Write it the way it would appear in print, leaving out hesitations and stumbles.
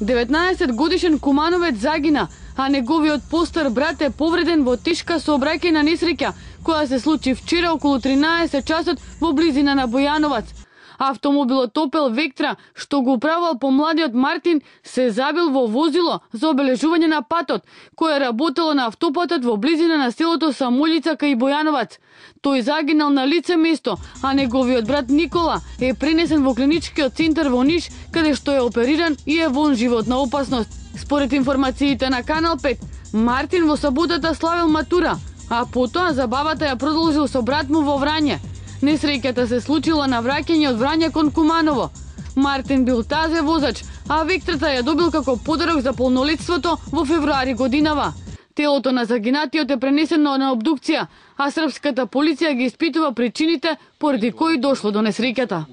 19-годишен кумановец загина, а неговиот постар брат е повреден во тешка сообраќајна несреќа која се случи вчера околу 13 часот во близина на Бојановац. Автомобилот Opel Vectra, што го управувал помладиот Мартин, се забил во возило за обележување на патот, кое работело на автопатот во близина на селото Самолица кај Бојановац. Тој загинал на лице место, а неговиот брат Никола е пренесен во клиничкиот центар во Ниш, каде што е опериран и е во животна опасност. Според информациите на Канал 5, Мартин во саботата славил матура, а потоа забавата ја продолжил со брат му во Врање. Несреќата се случила на враќање од Врање кон Куманово. Мартин бил тазе возач, а Вектрата ја добил како подарок за полнолетството во февруари годинава. Телото на загинатиот е пренесено на обдукција, а српската полиција ги испитува причините поради кои дошло до несреќата.